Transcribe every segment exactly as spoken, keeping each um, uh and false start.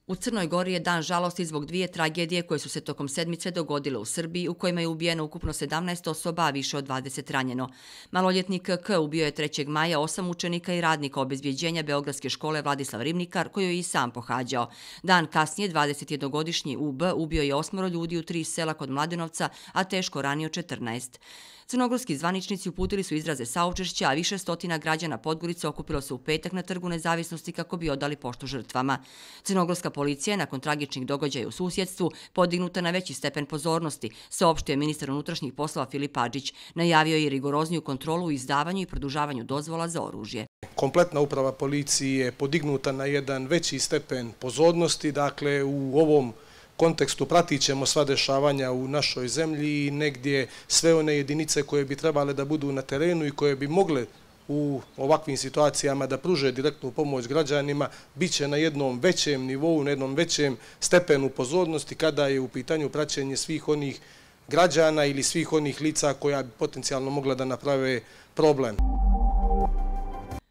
U Crnoj Gori je dan žalosti zbog dvije tragedije koje su se tokom sedmice dogodile u Srbiji, u kojima je ubijeno ukupno sedamnaest osoba, a više od dvadeset ranjeno. Maloljetnik K ubio je trećeg maja osam učenika i radnika obezbjeđenja Beogradske škole Vladislav Ribnikar, koju je i sam pohađao. Dan kasnije dvadesetjednogodišnji U B ubio je osmoro ljudi u tri sela kod Mladenovca, a teško ranio četrnaest. Crnogorski zvaničnici uputili su izraze saučešća, a više stotina građana Podgorice okupilo se u petak na Trgu Nezavisnosti kako bi odali poštu žrtvama. Crnogorska policija je nakon tragičnih događaja u susjedstvu podignuta na veći stepen pozornosti, saopštio je ministar unutrašnjih poslova Filip Adžić. Najavio je i rigorozniju kontrolu u izdavanju i produžavanju dozvola za oružje. Kompletna uprava policije je podignuta na jedan veći stepen pozornosti, dakle u ovom kontekstu pratit ćemo sva dešavanja u našoj zemlji i negdje sve one jedinice koje bi trebale da budu na terenu i koje bi mogle u ovakvim situacijama da pruže direktnu pomoć građanima, bit će na jednom većem nivou, na jednom većem stepenu pozornosti kada je u pitanju praćenje svih onih građana ili svih onih lica koja bi potencijalno mogla da naprave problem.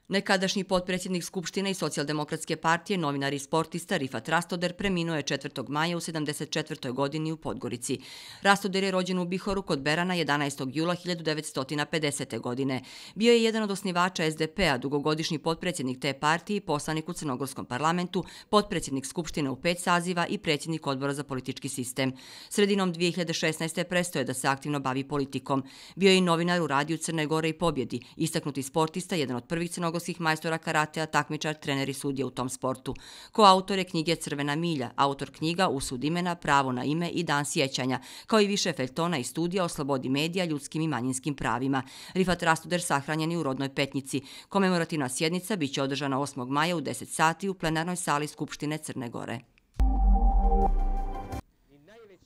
Nekadašnji potpredsjednik Skupštine i Socijaldemokratske partije, novinar i sportista Rifat Rastoder preminuo je četvrtog maja u sedamdeset četvrtoj godini u Podgorici. Rastoder je rođen u Bihoru kod Berana jedanaestog jula hiljadu devetsto pedesete. godine. Bio je jedan od osnivača S D P-a, dugogodišnji potpredsjednik te partije, poslanik u Crnogorskom parlamentu, potpredsjednik Skupštine u pet saziva i predsjednik odbora za politički sistem. Sredinom dvije hiljade šesnaeste. prestao je da se aktivno bavi politikom. Bio je i novinar u radiju Crne Gore i Pobjedi, istaknuti sportista, jedan od prvih crnogorskih majstora karatea, takmičar, trener i sudija u tom sportu. Koautor je knjige Crvena milja, autor knjiga Usud imena, Pravo na ime i Dan sjećanja, kao i više feljtona i studija o slobodi medija, ljudskim i manjinskim pravima. Rifat Rastoder sahranjen je u rodnoj Petnici. Komemorativna sjednica biće održana osmog maja u deset sati u plenarnoj sali Skupštine Crne Gore.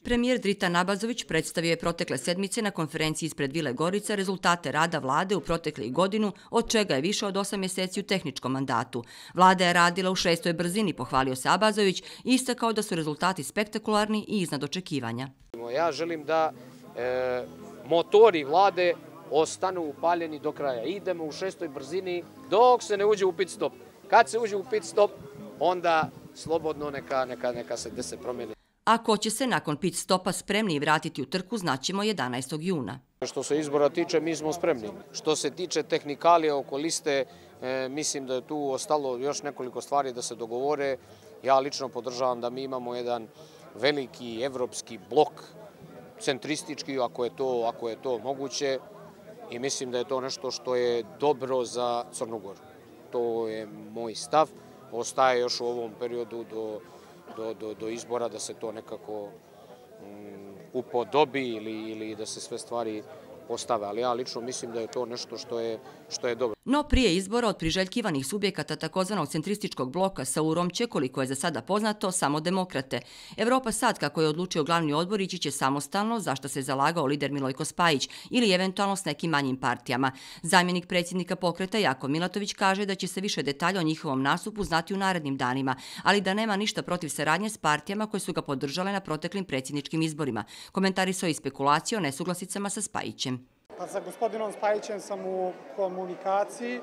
Premijer Dritan Abazović predstavio je protekle sedmice na konferenciji ispred Vile Gorica rezultate rada vlade u proteklih godinu, od čega je više od osam mjeseci u tehničkom mandatu. Vlada je radila u šestoj brzini, pohvalio se Abazović i istakao da su rezultati spektakularni i iznad očekivanja. Ja želim da e, motori vlade ostanu upaljeni do kraja. Idemo u šestoj brzini dok se ne uđe u pit stop. Kad se uđe u pit stop, onda slobodno neka, neka, neka se dese promjene. A ko će se nakon pit stopa spremni vratiti u trku, znaćemo jedanaestog juna. Što se izbora tiče, mi smo spremni. Što se tiče tehnikalije oko liste, e, mislim da je tu ostalo još nekoliko stvari da se dogovore. Ja lično podržavam da mi imamo jedan veliki evropski blok, centristički, ako je to, ako je to moguće. I mislim da je to nešto što je dobro za Crnu Goru. To je moj stav. Ostaje još u ovom periodu do... Do, do, do izbora da se to nekako um, upodobi ili, ili da se sve stvari postave. Ali ja lično mislim da je to nešto što je, što je dobro. No prije izbora od priželjkivanih subjekata takozvanog centrističkog bloka sa urom će, koliko je za sada poznato, samo demokrate. Evropa sad, kako je odlučio glavni odbor, ići će samostalno, za što se zalagao lider Milojko Spajić, ili eventualno s nekim manjim partijama. Zamjenik predsjednika pokreta Jakov Milatović kaže da će se više detalja o njihovom nastupu znati u narednim danima, ali da nema ništa protiv saradnje s partijama koje su ga podržale na proteklim predsjedničkim izborima. Komentarisao i spekulacije o nesuglasicama sa Spajićem. Pa sa gospodinom Spajićem sam u komunikaciji.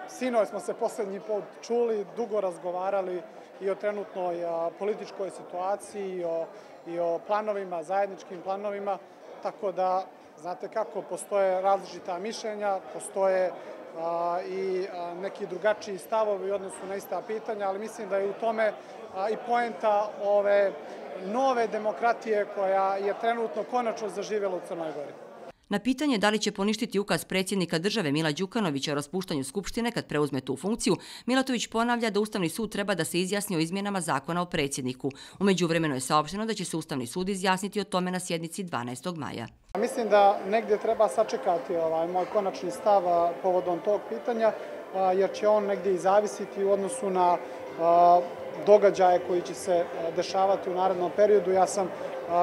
Sinoć smo se posljednji put čuli, dugo razgovarali i o trenutnoj političkoj situaciji i o, i o planovima, zajedničkim planovima. Tako da, znate kako, postoje različita mišljenja, postoje a, i a, neki drugačiji stavovi u odnosu na ista pitanja, ali mislim da je u tome a, i poenta ove nove demokratije koja je trenutno konačno zaživjela u Crnoj Gori. Na pitanje da li će poništiti ukaz predsjednika države Mila Đukanovića o raspuštanju Skupštine kad preuzme tu funkciju, Milatović ponavlja da Ustavni sud treba da se izjasni o izmjenama zakona o predsjedniku. U međuvremenu je saopšteno da će se Ustavni sud izjasniti o tome na sjednici dvanaestog maja. Mislim da negdje treba sačekati ovaj moj konačni stav povodom tog pitanja, jer će on negdje i zavisiti u odnosu na događaje koji će se dešavati u narednom periodu. Ja sam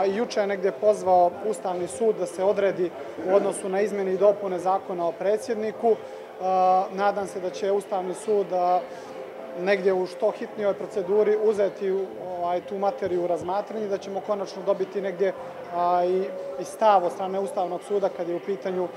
i juče negdje pozvao Ustavni sud da se odredi u odnosu na izmjene i dopune zakona o predsjedniku. Nadam se da će Ustavni sud negdje u što hitnijoj proceduri uzeti tu materiju u razmatranje, da ćemo konačno dobiti negdje i stav od strane Ustavnog suda kad je u pitanju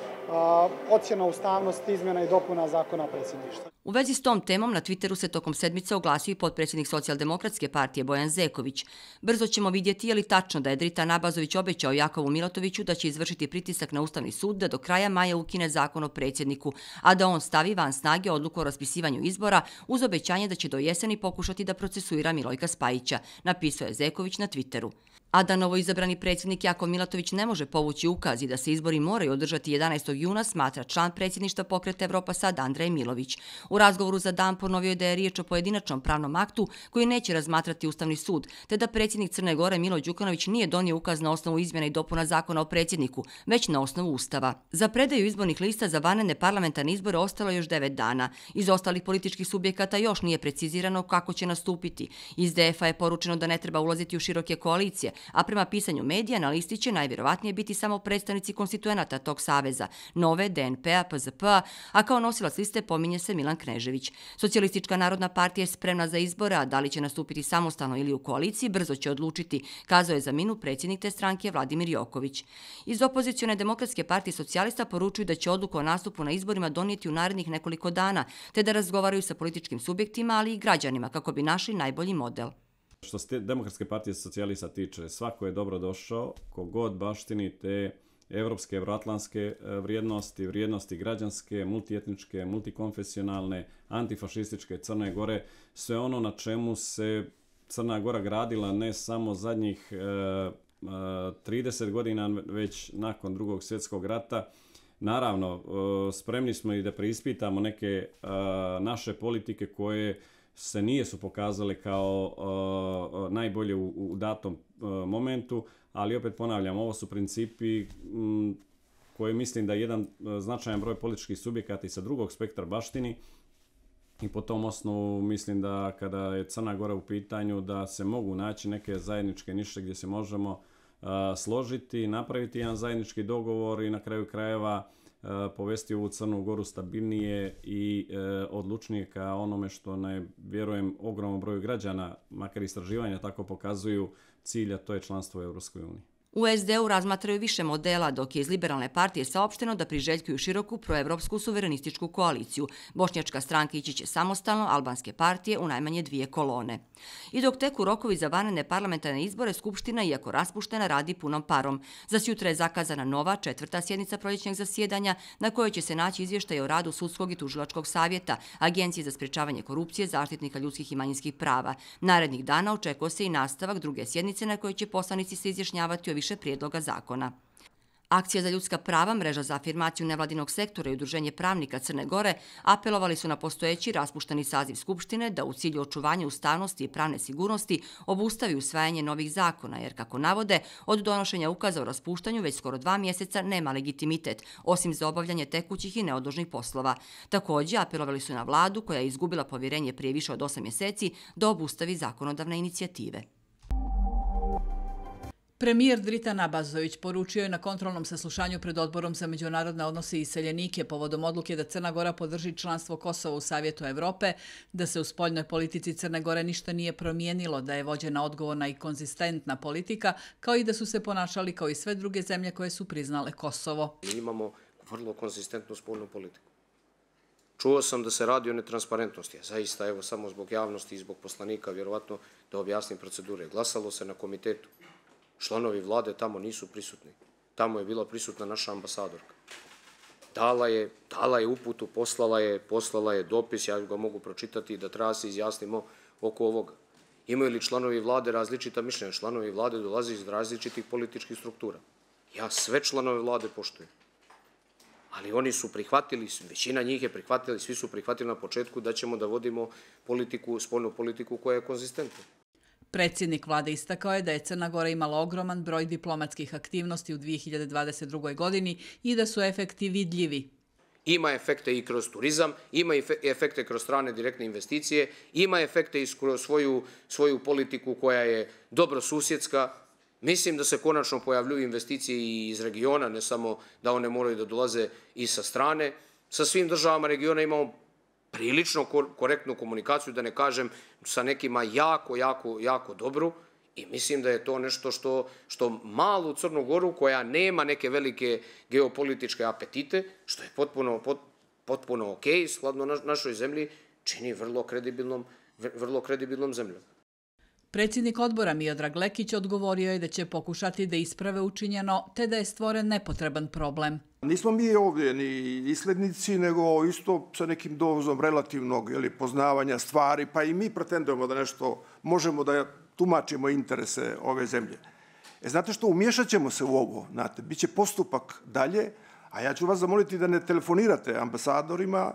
ocjena ustavnosti izmjena i dopuna zakona o predsjedništvu. U vezi s tom temom na Twitteru se tokom sedmice oglasio i potpredsjednik Socijaldemokratske partije Bojan Zeković. Brzo ćemo vidjeti je li tačno da je Dritan Abazović obećao Jakovu Milatoviću da će izvršiti pritisak na Ustavni sud da do kraja maja ukine zakon o predsjedniku, a da on stavi van snage odluku o raspisivanju izbora uz obećanje da će do jeseni pokušati da procesuira Milojka Spajića, napisao je Zeković na Twitteru. A da novoizabrani predsjednik Jakov Milatović ne može povući ukaz i da se izbori moraju održati jedanaestog juna, smatra član predsjedništva Pokreta Evropa Sad Andrej Milović. U razgovoru za Dan ponovio je da je riječ o pojedinačnom pravnom aktu koji neće razmatrati Ustavni sud, te da predsjednik Crne Gore Milo Đukanović nije donio ukaz na osnovu izmjena i dopuna zakona o predsjedniku, već na osnovu Ustava. Za predaju izbornih lista za vanredne parlamentarne izbore ostalo je još devet dana. Iz ostalih političkih subjekata još nije precizirano kako će nastupiti. Iz D F A je poručeno da ne treba ulaziti u široke koalicije, a prema pisanju medija na listi će najvjerovatnije biti samo predstavnici konstituenata tog saveza, Nove, D N P-a, P Z P-a, a kao nosilac liste pominje se Milan Knežević. Socijalistička narodna partija je spremna za izbore, a da li će nastupiti samostalno ili u koaliciji, brzo će odlučiti, kazao je za Minu predsjednik te stranke Vladimir Joković. Iz opozicione Demokratske partije socijalista poručuju da će odluku o nastupu na izborima donijeti u narednih nekoliko dana, te da razgovaraju sa političkim subjektima, ali i građanima kako bi našli najbolji model. Što se Demokratske partije socijalista tiče, svako je dobro došao, kogod baštini te evropske, evroatlantske vrijednosti, vrijednosti građanske, multietničke, multikonfesionalne, antifašističke Crne Gore, sve ono na čemu se Crna Gora gradila ne samo zadnjih e, e, trideset godina, već nakon Drugog svjetskog rata. Naravno, e, spremni smo i da preispitamo neke e, naše politike koje se nisu pokazale kao uh, najbolje u, u datom uh, momentu, ali opet ponavljam, ovo su principi um, koje mislim da jedan uh, značajan broj političkih subjekata i sa drugog spektra baštini i po tom osnovu mislim da kada je Crna Gora u pitanju da se mogu naći neke zajedničke niše gdje se možemo uh, složiti, napraviti jedan zajednički dogovor i na kraju krajeva povesti ovu Crnu Goru stabilnije i e, odlučnije ka onome što ne vjerujem ogromnom broju građana, makar istraživanja tako pokazuju, cilja, to je članstvo u Europskoj uniji. U S D U razmatraju više modela, dok je iz Liberalne partije saopšteno da priželjkuju široku proevropsku suverenističku koaliciju. Bošnjačka stranka ići će samostalno, albanske partije u najmanje dvije kolone. I dok teku rokovi za vanredne parlamentarne izbore, Skupština, iako raspuštena, radi punom parom. Za sutra je zakazana nova, četvrta sjednica proljećnog zasjedanja, na kojoj će se naći izvještaj o radu Sudskog i Tužilačkog savjeta, Agencije za sprečavanje korupcije, zaštitnika ljudskih i manjinskih prava. Narednih dana očekuje se i nastavak druge sjednice na kojoj će poslanici se izjašnjavati o više prijedloga zakona. Akcija za ljudska prava, mreža za afirmaciju nevladinog sektora i Udruženje pravnika Crne Gore apelovali su na postojeći raspušteni saziv Skupštine da u cilju očuvanja ustavnosti i pravne sigurnosti obustavi usvajanje novih zakona, jer, kako navode, od donošenja ukaza o raspuštanju već skoro dva mjeseca nema legitimitet, osim za obavljanje tekućih i neodložnih poslova. Također, apelovali su na vladu, koja je izgubila povjerenje prije više od osam mjeseci, da obustavi zakonodavne inicijative. Premijer Dritan Abazović poručio je na kontrolnom saslušanju pred Odborom za međunarodne odnose i iseljenike povodom odluke da Crna Gora podrži članstvo Kosova u Savjetu Evrope, da se u spoljnoj politici Crne Gore ništa nije promijenilo, da je vođena odgovorna i konzistentna politika, kao i da su se ponašali kao i sve druge zemlje koje su priznale Kosovo. Mi imamo vrlo konzistentnu spoljnu politiku. Čuo sam da se radi o netransparentnosti, a zaista, evo, samo zbog javnosti i zbog poslanika, vjerovatno da objasnim procedure. Glasalo se na komitetu. Članovi vlade tamo nisu prisutni. Tamo je bila prisutna naša ambasadorka. Dala je, dala je uputu, poslala je, poslala je dopis, ja ga mogu pročitati, da treba se izjasnimo oko ovoga. Imaju li članovi vlade različita mišljenja? Članovi vlade dolaze iz različitih političkih struktura. Ja sve članove vlade poštujem. Ali oni su prihvatili, većina njih je prihvatila, svi su prihvatili na početku da ćemo da vodimo politiku, spoljnu politiku koja je konzistentna. Predsjednik vlade istakao je da je Crna Gora imala ogroman broj diplomatskih aktivnosti u dvije hiljade dvadeset drugoj. godini i da su efekti vidljivi. Ima efekte i kroz turizam, ima efekte kroz strane direktne investicije, ima efekte i kroz svoju, svoju politiku koja je dobrosusjedska. Mislim da se konačno pojavljuju investicije i iz regiona, ne samo da one moraju da dolaze i sa strane. Sa svim državama regiona imamo prilično korektnu komunikaciju, da ne kažem sa nekima jako, jako, jako dobru, i mislim da je to nešto što, što malu Crnu Goru, koja nema neke velike geopolitičke apetite, što je potpuno, pot, potpuno ok, skladno našoj zemlji, čini vrlo kredibilnom, vrlo kredibilnom zemljom. Predsjednik odbora Miodrag Lekić odgovorio je da će pokušati da isprave učinjeno, te da je stvoren nepotreban problem. Nismo mi ovdje ni islednici, nego isto sa nekim dozom relativnog poznavanja stvari, pa i mi pretendujemo da nešto možemo da tumačimo interese ove zemlje. E, znate što, umješat ćemo se u ovo, znate, bit će postupak dalje, a ja ću vas zamoliti da ne telefonirate ambasadorima,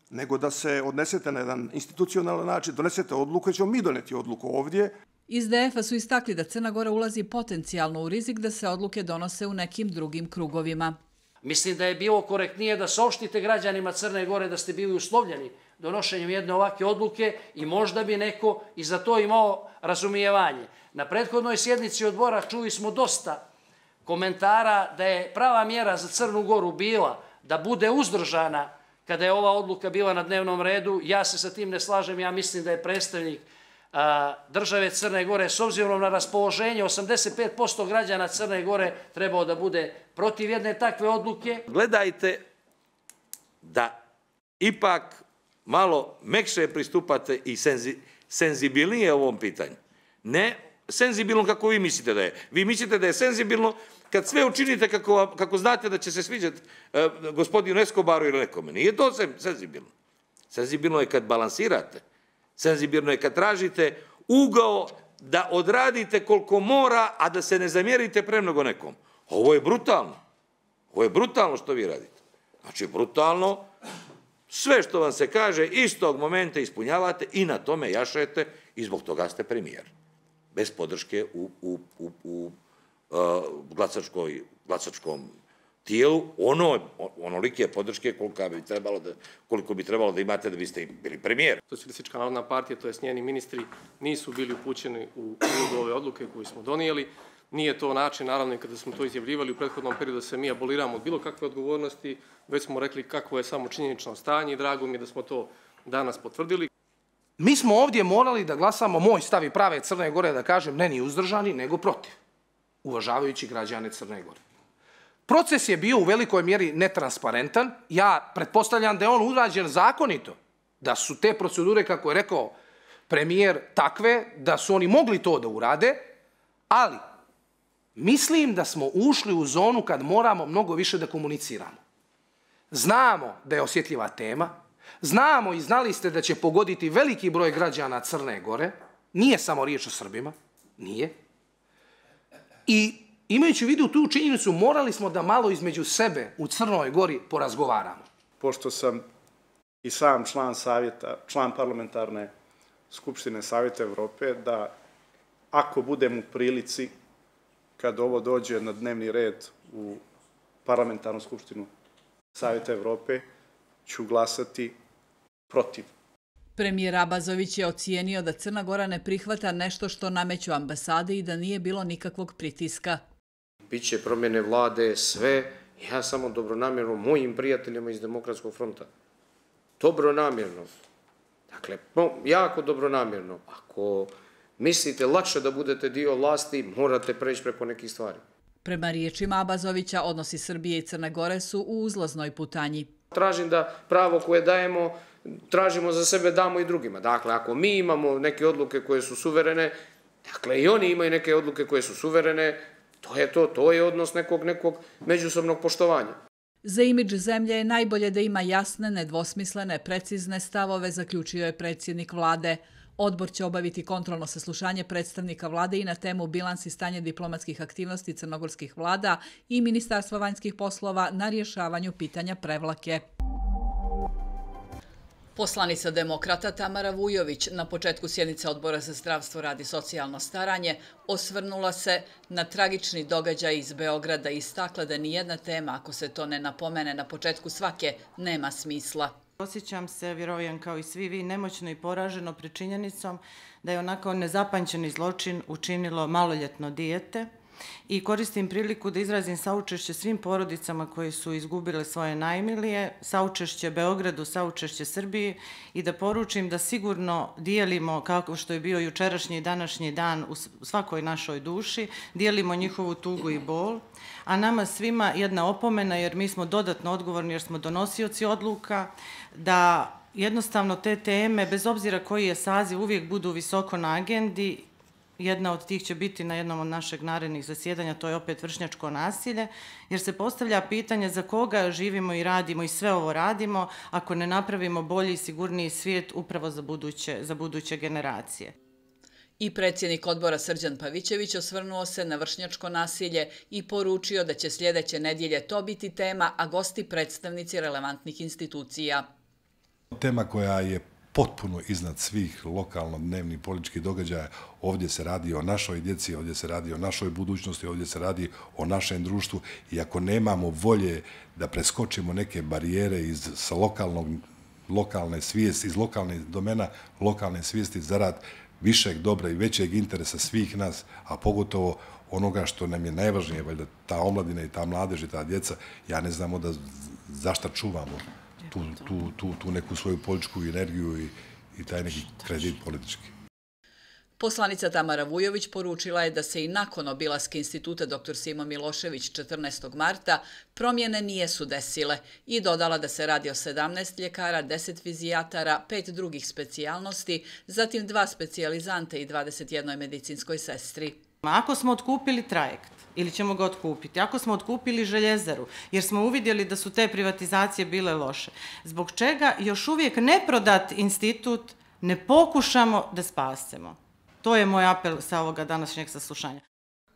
nego da se odnesete na jedan institucionalan način, donesete odluku, ćemo mi doneti odluku ovdje. Iz D F-a su istakli da Crna Gora ulazi potencijalno u rizik da se odluke donose u nekim drugim krugovima. Mislim da je bilo korektnije da saopštite građanima Crne Gore da ste bili uslovljeni donošenjem jedne ovakve odluke i možda bi neko i za to imao razumijevanje. Na prethodnoj sjednici odbora čuli smo dosta komentara da je prava mjera za Crnu Goru bila da bude uzdržana kada je ova odluka bila na dnevnom redu. Ja se sa tim ne slažem, ja mislim da je predstavnik države Crne Gore s obzirom na raspoloženje osamdeset pet posto građana Crne Gore trebao da bude protiv jedne takve odluke. Gledajte da ipak malo mekše pristupate i senzibilnije ovom pitanju. Ne senzibilno kako vi mislite da je. Vi mislite da je senzibilno kad sve učinite kako znate da će se sviđati gospodinu Escobaru ili nekome. Nije to senzibilno. Senzibilno je kad balansirate. Senzibilno je kad tražite ugao da odradite koliko mora, a da se ne zamjerite premnogo nekom. Ovo je brutalno. Ovo je brutalno što vi radite. Znači, brutalno, sve što vam se kaže istog momenta ispunjavate i na tome jašete i zbog toga ste premijer. Bez podrške u, u, u, u uh, glasačkoj, glasačkom tijelu, ono, onolike podrške koliko bi trebalo da, koliko bi trebalo da imate da biste bili premijer. Socijalistička narodna partija, to jest njeni ministri, nisu bili upućeni u ulogu ove odluke koju smo donijeli. Nije to način, naravno, kada smo to izjavljivali u prethodnom periodu da se mi aboliramo od bilo kakve odgovornosti, već smo rekli kakvo je samo činjenično stanje i drago mi je da smo to danas potvrdili. Mi smo ovdje morali da glasamo, moj stav i prave Crne Gore, da kažem, ne ni uzdržani, nego protiv, uvažavajući građane Crne Gore. Proces je bio u velikoj mjeri netransparentan. Ja pretpostavljam da je on urađen zakonito, da su te procedure, kako je rekao premijer, takve, da su oni mogli to da urade, ali mislim da smo ušli u zonu kad moramo mnogo više da komuniciramo. Znamo da je osjetljiva tema, znamo i znali ste da će pogoditi veliki broj građana Crne Gore, nije samo riječ o Srbima, nije. I imajući u vidu tu činjenicu, morali smo da malo između sebe u Crnoj Gori porazgovaramo. Pošto sam i sam član savjeta, član parlamentarne skupštine Savjeta Evrope, da ako budem u prilici, kad ovo dođe na dnevni red u parlamentarnu skupštinu Savjeta Evrope, ću glasati protiv. Premijer Abazović je ocijenio da Crna Gora ne prihvata nešto što nameću ambasade i da nije bilo nikakvog pritiska. Biće promjene vlade, sve, ja samo dobronamjerno mojim prijateljima iz Demokratskog fronta. Dobronamjerno. Dakle, jako dobronamjerno. Ako mislite lakše da budete dio vlasti, morate preći preko nekih stvari. Prema riječima Abazovića, odnosi Srbije i Crne Gore su u uzlaznoj putanji. Tražim da pravo koje dajemo, tražimo za sebe, damo i drugima. Dakle, ako mi imamo neke odluke koje su suverene, dakle i oni imaju neke odluke koje su suverene, to je to, to je odnos nekog, nekog međusobnog poštovanja. Za imidž zemlje je najbolje da ima jasne, nedvosmislene, precizne stavove, zaključio je predsjednik vlade. Odbor će obaviti kontrolno saslušanje predstavnika vlade i na temu bilans i stanje diplomatskih aktivnosti crnogorskih vlada i Ministarstva vanjskih poslova na rješavanju pitanja Prevlake. Poslanica demokrata Tamara Vujović na početku sjednice Odbora za zdravstvo, rad i socijalno staranje osvrnula se na tragični događaj iz Beograda i istakla da nijedna tema, ako se to ne napomene na početku svake, nema smisla. Osjećam se, vjerujem kao i svi vi, nemoćno i poraženo pred činjenicom da je onako nezapanjeni zločin učinilo maloljetno dijete i koristim priliku da izrazim saučešće svim porodicama koji su izgubile svoje najmilije, saučešće Beogradu, saučešće Srbiji i da poručim da sigurno dijelimo, kako što je bio jučerašnji i današnji dan u svakoj našoj duši, dijelimo njihovu tugu i bol, a nama svima jedna opomena jer mi smo dodatno odgovorni jer smo donosioci odluka, da jednostavno te teme, bez obzira koji je saziv, uvijek budu visoko na agendi. Jedna od tih će biti na jednom od našeg narednih zasjedanja, to je opet vršnjačko nasilje, jer se postavlja pitanje za koga živimo i radimo i sve ovo radimo ako ne napravimo bolji i sigurniji svijet upravo za buduće, za buduće generacije. I predsjednik odbora Srđan Pavićević osvrnuo se na vršnjačko nasilje i poručio da će sljedeće nedjelje to biti tema, a gosti predstavnici relevantnih institucija. Tema koja je potpuno iznad svih lokalno dnevnih političkih događaja. Ovdje se radi o našoj djeci, ovdje se radi o našoj budućnosti, ovdje se radi o našem društvu i ako nemamo volje da preskočimo neke barijere iz sa lokalnog, lokalne svijesti, iz lokalnih domena, lokalne svijesti zarad višeg dobra i većeg interesa svih nas, a pogotovo onoga što nam je najvažnije, valjda ta omladina i ta mladež i ta djeca, ja ne znamo da zašto čuvamo tu, tu, tu, tu neku svoju političku energiju i, i taj neki kredit politički. Poslanica Tamara Vujović poručila je da se i nakon obilaska instituta doktor Simo Milošević četrnaestog marta promjene nijesu desile i dodala da se radi o sedamnaest ljekara, deset fizijatara, pet drugih specijalnosti, zatim dva specijalizante i dvadeset jednoj medicinskoj sestri. Ako smo otkupili trajekt, ili ćemo ga otkupiti, ako smo otkupili željezaru, jer smo uvidjeli da su te privatizacije bile loše, zbog čega još uvijek neprodat institut ne pokušamo da spasemo? To je moj apel sa ovoga današnjeg saslušanja.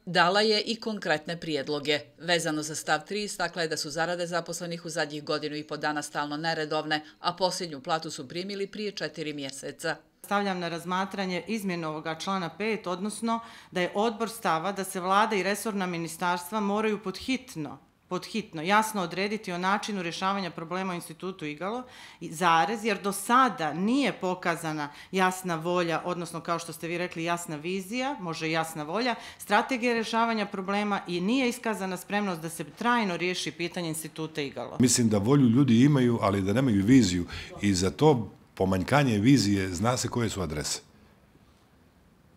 Dala je i konkretne prijedloge. Vezano za stav tri istakla je da su zarade zaposlenih u zadnjih godinu i po dana stalno neredovne, a posljednju platu su primili prije četiri mjeseca. Stavljam na razmatranje izmjenu ovoga člana pet, odnosno da je odbor stava da se vlada i resorna ministarstva moraju podhitno, podhitno jasno odrediti o načinu rješavanja problema u institutu Igalo, zarez, jer do sada nije pokazana jasna volja, odnosno kao što ste vi rekli jasna vizija, može jasna volja, strategija rješavanja problema i nije iskazana spremnost da se trajno riješi pitanje instituta Igalo. Mislim da volju ljudi imaju, ali da nemaju viziju i za to pomanjkanje vizije zna se koje su adrese.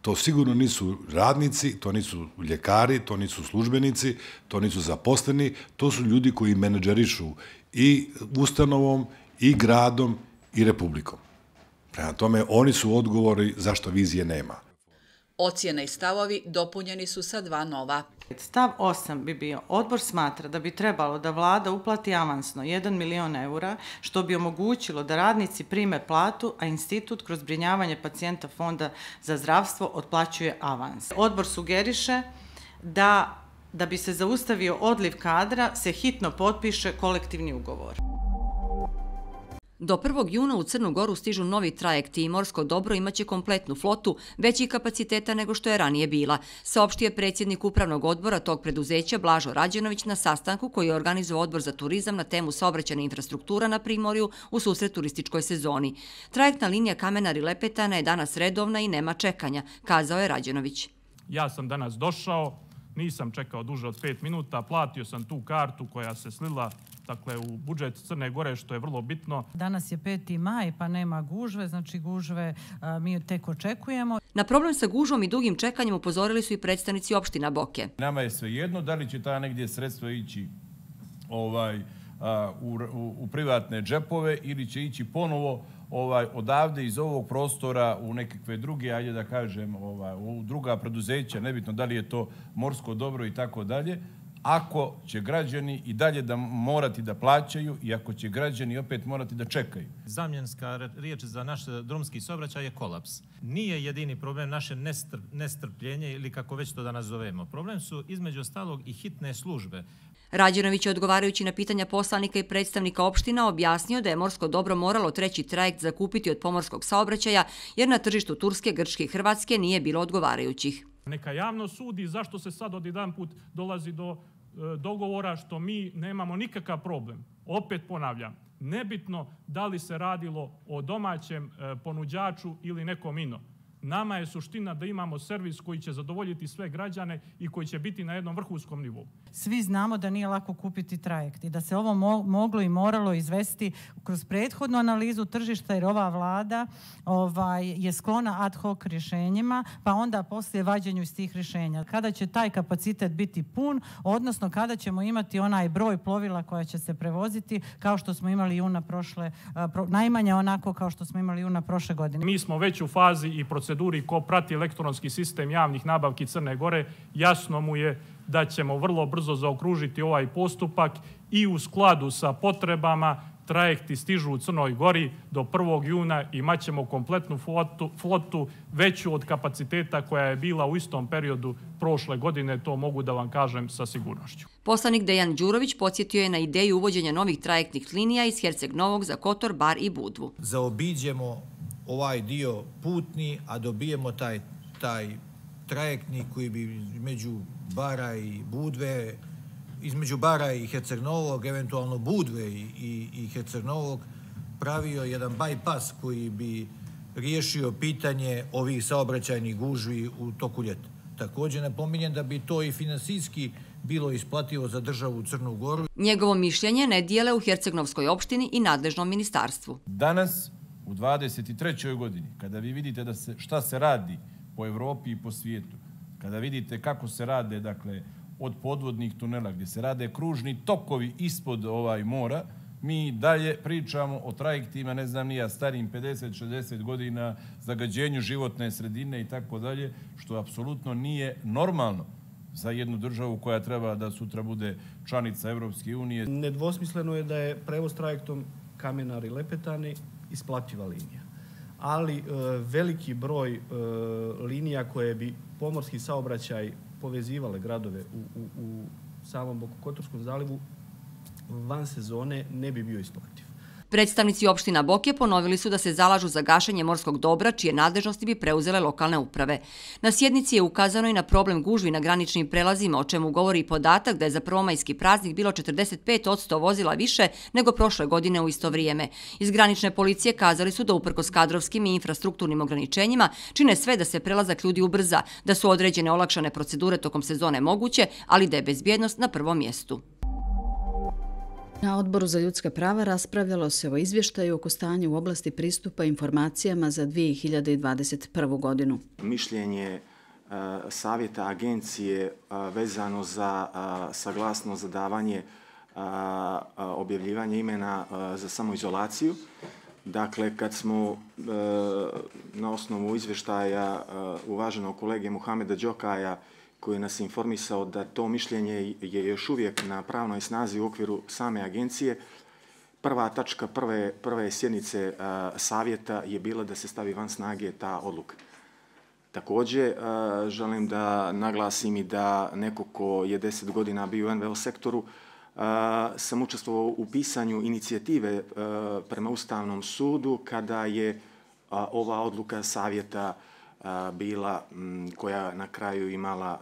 To sigurno nisu radnici, to nisu ljekari, to nisu službenici, to nisu zaposleni, to su ljudi koji menadžerišu i ustanovom, i gradom, i republikom. Prema tome, oni su odgovori zašto vizije nema. Ocjene i stavovi dopunjeni su sa dva nova. Stav osam bi bio, odbor smatra da bi trebalo da vlada uplati avansno jedan milion eura, što bi omogućilo da radnici prime platu, a institut kroz zbrinjavanje pacijenta Fonda za zdravstvo otplaćuje avans. Odbor sugeriše da, da bi se zaustavio odliv kadra, se hitno potpiše kolektivni ugovor. Do prvog juna u Crnu Goru stižu novi trajekti i morsko dobro imaće kompletnu flotu većih kapaciteta nego što je ranije bila, saopštio je predsjednik upravnog odbora tog preduzeća Blažo Rađenović na sastanku koji je organizovao odbor za turizam na temu saobraćajna infrastruktura na Primorju u susret turističkoj sezoni. Trajektna linija Kamenar-Lepetana je danas redovna i nema čekanja, kazao je Rađenović. Ja sam danas došao, nisam čekao duže od pet minuta, platio sam tu kartu koja se slila dakle, u budžet Crne Gore, što je vrlo bitno. Danas je peti maj, pa nema gužve, znači gužve a, mi tek očekujemo. Na problem sa gužvom i dugim čekanjem upozorili su i predstavnici opština Boke. Nama je svejedno da li će ta negdje sredstva ići ovaj, a, u, u, u privatne džepove ili će ići ponovo ovaj, odavde iz ovog prostora u nekakve druge, ajde da kažem, ovaj, u druga preduzeća, nebitno da li je to morsko dobro i tako dalje, ako će građani i dalje da morati da plaćaju i ako će građani opet morati da čekaju. Zamjenska riječ za naš drumski saobraćaj je kolaps. Nije jedini problem naše nestrp, nestrpljenje ili kako već to da nazovemo. Problem su između ostalog i hitne službe. Rađenović je odgovarajući na pitanja poslanika i predstavnika opština objasnio da je morsko dobro moralo treći trajekt zakupiti od pomorskog saobraćaja jer na tržištu Turske, Grčke i Hrvatske nije bilo odgovarajućih. Neka javno sudi zašto se sad odjedan put dolazi do e, dogovora što mi nemamo nikakav problem. Opet ponavljam, nebitno da li se radilo o domaćem e, ponuđaču ili nekom ino. Nama je suština da imamo servis koji će zadovoljiti sve građane i koji će biti na jednom vrhunskom nivou. Svi znamo da nije lako kupiti trajekt i da se ovo mo moglo i moralo izvesti kroz prethodnu analizu tržišta, jer ova vlada ovaj, je sklona ad hoc rješenjima, pa onda poslije vađenju iz tih rješenja. Kada će taj kapacitet biti pun, odnosno kada ćemo imati onaj broj plovila koja će se prevoziti kao što smo imali juna prošle, pro, najmanje onako kao što smo imali juna prošle godine. Mi smo već u fazi i proceduri ko prati elektronski sistem javnih nabavki Crne Gore, jasno mu je da ćemo vrlo brzo zaokružiti ovaj postupak i u skladu sa potrebama trajekti stižu u Crnoj Gori do prvog juna i imat ćemo kompletnu flotu, flotu veću od kapaciteta koja je bila u istom periodu prošle godine, to mogu da vam kažem sa sigurnošću. Poslanik Dejan Đurović podsjetio je na ideju uvođenja novih trajektnih linija iz Herceg Novog za Kotor, Bar i Budvu. Zaobiđemo ovaj dio putni, a dobijemo taj, taj trajektni koji bi među Bara i Budve, između Bara i Herceg Novog, eventualno Budve i, i, i Herceg Novog, pravio jedan bypass koji bi riješio pitanje ovih saobraćajnih gužvi u toku ljeta. Također napominjem da bi to i finansijski bilo isplativo za državu Crnu Goru. Njegovo mišljenje ne dijele u Hercegnovskoj opštini i nadležnom ministarstvu. Danas, u dvadeset trećoj godini, kada vi vidite da se, šta se radi po Evropi i po svijetu, kada vidite kako se rade, dakle, od podvodnih tunela, gdje se rade kružni tokovi ispod ovaj mora, mi dalje pričamo o trajektima, ne znam nija, starim pedeset šezdeset godina, zagađenju životne sredine i tako dalje, što apsolutno nije normalno za jednu državu koja treba da sutra bude članica Evropske unije. Nedvosmisleno je da je prevoz trajektom Kamenar-Lepetani isplativa linija. Ali e, veliki broj e, linija koje bi pomorski saobraćaj povezivale gradove u, u, u samom Bokokotorskom zalivu van sezone ne bi bio isplativ. Predstavnici opština Boke ponovili su da se zalažu za gašenje morskog dobra, čije nadležnosti bi preuzele lokalne uprave. Na sjednici je ukazano i na problem gužvi na graničnim prelazima, o čemu govori i podatak da je za prvomajski praznik bilo četrdeset pet posto vozila više nego prošle godine u isto vrijeme. Iz granične policije kazali su da uprkos kadrovskim i infrastrukturnim ograničenjima čine sve da se prelazak ljudi ubrza, da su određene olakšane procedure tokom sezone moguće, ali da je bezbjednost na prvom mjestu. Na Odboru za ljudska prava raspravljalo se o izvještaju oko stanja u oblasti pristupa informacijama za dvije hiljade dvadeset prvu. godinu. Mišljenje savjeta agencije vezano za saglasnost za davanje objavljivanja imena za samoizolaciju. Dakle, kad smo na osnovu izvještaja uvaženog kolege Muhameda Đokaja, koji nas informisao da to mišljenje je još uvijek na pravnoj snazi u okviru same agencije, prva tačka prve, prve sjednice a, savjeta je bila da se stavi van snage ta odluka. Također, a, želim da naglasim i da neko ko je deset godina bio u en ve o sektoru, a, sam učestvovao u pisanju inicijative a, prema Ustavnom sudu kada je a, ova odluka savjeta bila, koja na kraju imala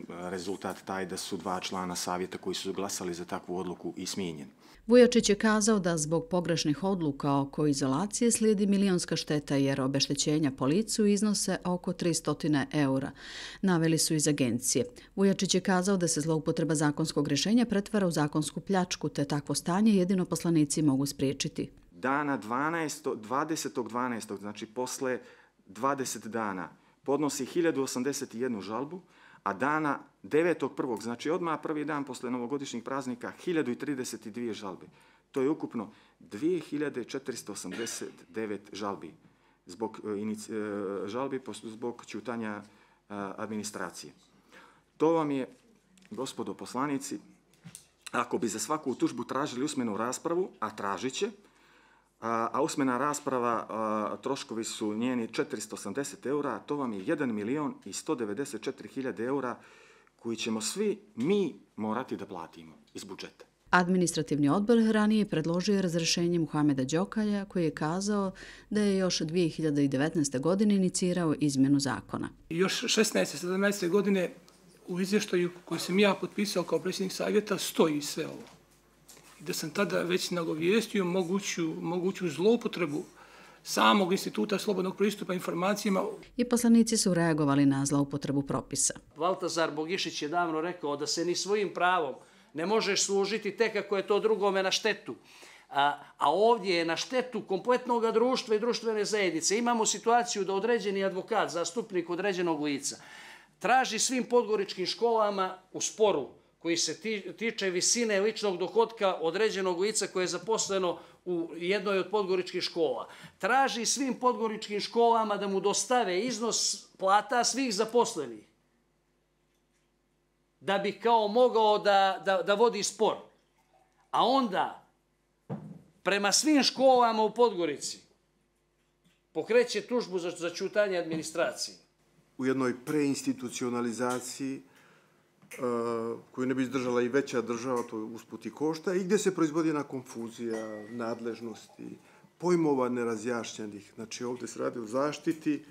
rezultat taj da su dva člana savjeta koji su glasali za takvu odluku i smijenjeni. Vujačić je kazao da zbog pogrešnih odluka oko izolacije slijedi milionska šteta jer obeštećenja po licu iznose oko tristo eura. Naveli su iz agencije. Vujačić je kazao da se zloupotreba zakonskog rješenja pretvara u zakonsku pljačku, te takvo stanje jedino poslanici mogu spriječiti. Dana dvadesetog dvanaestog znači posle dvadeset dana, podnosi hiljadu osamdeset jednu žalbu, a dana devetog prvog znači odmah prvi dan posle novogodišnjih praznika, hiljadu trideset dvije žalbe. To je ukupno dvije hiljade četiristo osamdeset devet žalbi zbog, žalbi zbog ćutanja administracije. To vam je, gospodo poslanici, ako bi za svaku tužbu tražili usmenu raspravu, a tražit će, a usmena rasprava, a, troškovi su njeni četiristo osamdeset eura, to vam je jedan milion i sto devedeset četiri hiljade eura koji ćemo svi mi morati da platimo iz budžeta. Administrativni odbor ranije predložio razrješenje Muhameda Đokaja, koji je kazao da je još dvije hiljade devetnaeste. godine inicirao izmjenu zakona. Još šesnaeste sedamnaeste. godine u izvještaju koji sam ja potpisao kao predsjednik savjeta stoji sve ovo. Da sam tada već nagovijestio moguću, moguću zloupotrebu samog instituta slobodnog pristupa informacijama. I poslanici su reagovali na zloupotrebu propisa. Valtazar Bogišić je davno rekao da se ni svojim pravom ne možeš služiti tek ako je to drugome na štetu. A, a ovdje je na štetu kompletnog društva i društvene zajednice. Imamo situaciju da određeni advokat, zastupnik određenog lica, traži svim podgoričkim školama u sporu koji se tiče visine ličnog dohotka određenog lica koje je zaposleno u jednoj od podgoričkih škola. Traži svim podgoričkim školama da mu dostave iznos plata svih zaposlenih, da bi kao mogao da, da, da vodi spor. A onda prema svim školama u Podgorici pokreće tužbu za zaćutanje administracije. U jednoj preinstitucionalizaciji koju ne bi izdržala i veća država, to usput i košta, i gdje se proizvodi jedna konfuzija, nadležnosti, pojmova nerazjašnjenih. Znači ovdje se radi o zaštiti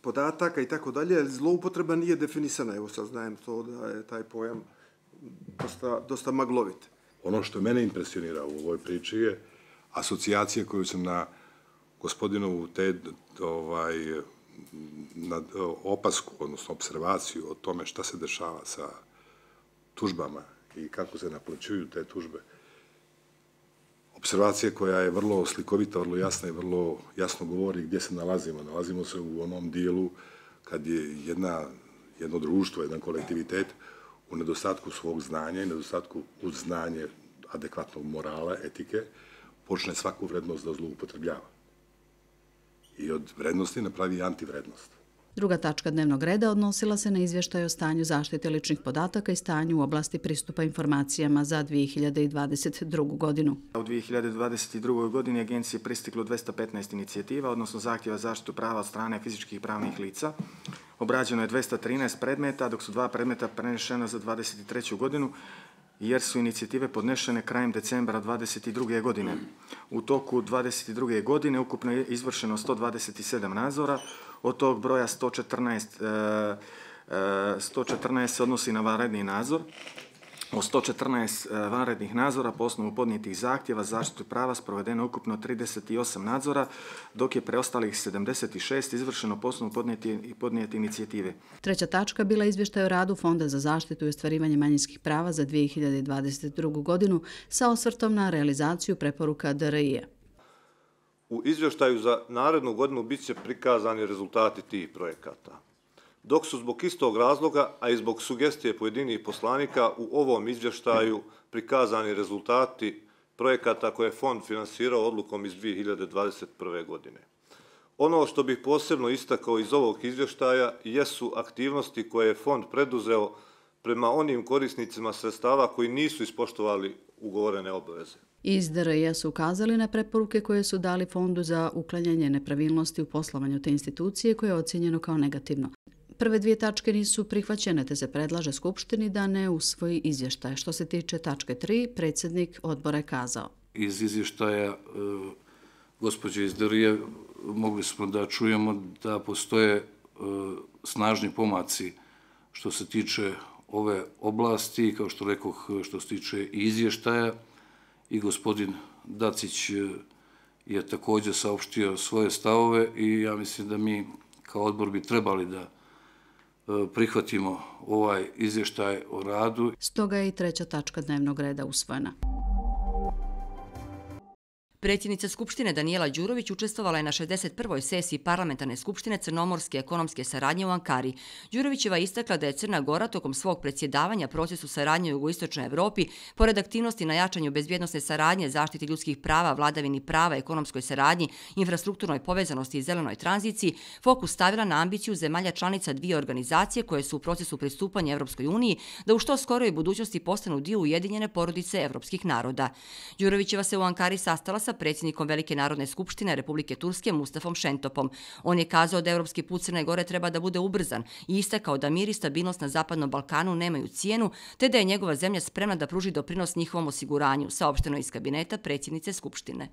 podataka i tako dalje, ali zloupotreba nije definisana. Evo sad znajem to da je taj pojam dosta, dosta maglovit. Ono što mene impresionira u ovoj priči je asocijacija koju sam na gospodinovu te, ovaj, na opasku, odnosno observaciju o tome šta se dešava sa tužbama i kako se naplaćuju te tužbe. Observacija koja je vrlo slikovita, vrlo jasna i vrlo jasno govori gdje se nalazimo. Nalazimo se u onom dijelu kad je jedna, jedno društvo, jedan kolektivitet u nedostatku svog znanja i nedostatku uz znanje adekvatnog morala, etike, počne svaku vrednost da zloupotrebljava. I od vrednosti napravi antivrednost. Druga tačka dnevnog reda odnosila se na izvještaj o stanju zaštite ličnih podataka i stanju u oblasti pristupa informacijama za dvije hiljade dvadeset drugu. godinu. U dvije hiljade dvadeset drugoj. godini agenciji je pristiglo dvesta petnaest inicijativa, odnosno zahtjeva zaštitu prava od strane fizičkih i pravnih lica. Obrađeno je dvesta trinaest predmeta, dok su dva predmeta prenešena za dvadeset treću. godinu, jer su inicijative podnešene krajem decembra dvadeset druge. godine. U toku dvadeset druge. godine ukupno je izvršeno sto dvadeset sedam nadzora, od tog broja sto četrnaest, sto četrnaest se odnosi na vanredni nadzor. Od sto četrnaest vanrednih nadzora po osnovu podnijetih zahtjeva zaštitu prava sprovedeno ukupno trideset osam nadzora, dok je preostalih sedamdeset šest izvršeno po osnovu podnijete inicijative. Treća tačka bila izvještaj o radu Fonda za zaštitu i ostvarivanje manjinskih prava za dvije hiljade dvadeset drugu. godinu sa osvrtom na realizaciju preporuka D R I-a. U izvještaju za narednu godinu bit će prikazani rezultati tih projekata. Dok su zbog istog razloga, a i zbog sugestije pojedinih poslanika u ovom izvještaju prikazani rezultati projekata koje je fond finansirao odlukom iz dvije hiljade dvadeset prve. godine. Ono što bih posebno istakao iz ovog izvještaja jesu aktivnosti koje je fond preduzeo prema onim korisnicima sredstava koji nisu ispoštovali ugovorene obaveze. Iz D R I-a su ukazali na preporuke koje su dali Fondu za uklanjanje nepravilnosti u poslovanju te institucije koje je ocjenjeno kao negativno. Prve dvije tačke nisu prihvaćene, te se predlaže Skupštini da ne usvoji izvještaj. Što se tiče tačke tri, predsjednik odbora je kazao. Iz izvještaja e, gospođe iz D R I-a mogli smo da čujemo da postoje e, snažni pomaci što se tiče ove oblasti, kao što rekoh, što se tiče i izvještaja, i gospodin Dacić je također saopštio svoje stavove i ja mislim da mi kao odbor bi trebali da prihvatimo ovaj izvještaj o radu. Stoga je i treća tačka dnevnog reda usvojena. Predsjednica Skupštine Danijela Đurović učestvovala je na šezdeset prvoj sesiji Parlamentarne skupštine Crnomorske ekonomske saradnje u Ankari. Đurovićeva je istakla da je Crna Gora tokom svog predsjedavanja procesu saradnje u jugoistočnoj Evropi, pored aktivnosti na jačanju bezbjednosne saradnje, zaštiti ljudskih prava, vladavini prava, ekonomskoj saradnji, infrastrukturnoj povezanosti i zelenoj tranziciji, fokus stavila na ambiciju zemalja članica dvije organizacije koje su u procesu pristupanja Evropskoj uniji da u što skoroj budućnosti postanu dio ujedinjene porodice evropskih naroda. Đurovićeva se u Ankari sastala sa predsjednikom Velike narodne skupštine Republike Turske Mustafom Šentopom. On je kazao da evropski put Crne Gore treba da bude ubrzan i istakao da mir i stabilnost na Zapadnom Balkanu nemaju cijenu, te da je njegova zemlja spremna da pruži doprinos njihovom osiguranju, saopšteno iz kabineta predsjednice Skupštine.